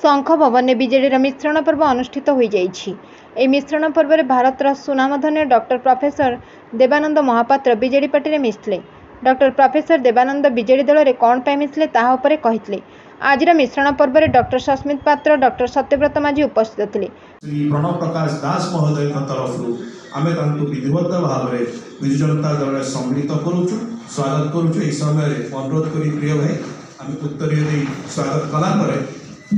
ଶଙ୍ଖ ଭବନରେ ବିଜେଡ଼ିର ମିଶ୍ରଣ ପର୍ବ ଅନୁଷ୍ଠିତ ହୋଇଯାଇଛି। ଏହି ମିଶ୍ରଣ ପର୍ବରେ ଭାରତର ସୁନାମଧନ୍ୟ doctor professor Debananda Mahapatra BJD ପାର୍ଟିରେ ମିଶିଥିଲେ। ଡକ୍ଟର ପ୍ରଫେସର ଦେବାନନ୍ଦ ବିଜେଡି ଦଳରେ କ'ଣ ପାଇଁ ମିଶିଲେ ତାହା ଉପରେ କହିଥିଲେ। ଆଜିର ମିଶ୍ରଣ ପର୍ବରେ ଡକ୍ଟର ସସ୍ମିତ ପାତ୍ର, ଡକ୍ଟର ସତ୍ୟବ୍ରତ ମାଝୀ ଉପସ୍ଥିତ ଥିଲେ। ଶ୍ରୀ ପ୍ରଣବ ପ୍ରକାଶ ଦାସ ମହୋଦୟଙ୍କ ତରଫରୁ ଆମେ ତାଙ୍କୁ ବିଧିବଦ୍ଧ ଭାବରେ ବିଜୁ ଜନତା ଦଳରେ ସମ୍ମିଳିତ କରୁଛୁ, ସ୍ୱାଗତ କରୁଛୁ। ଏହି ସମୟରେ ଅନୁରୋଧ କରି ପ୍ରିୟ ଭାଇ, ଆମେ ଉତ୍ତରୀୟ ଦେଇ ସ୍ୱାଗତ କଲା ପରେ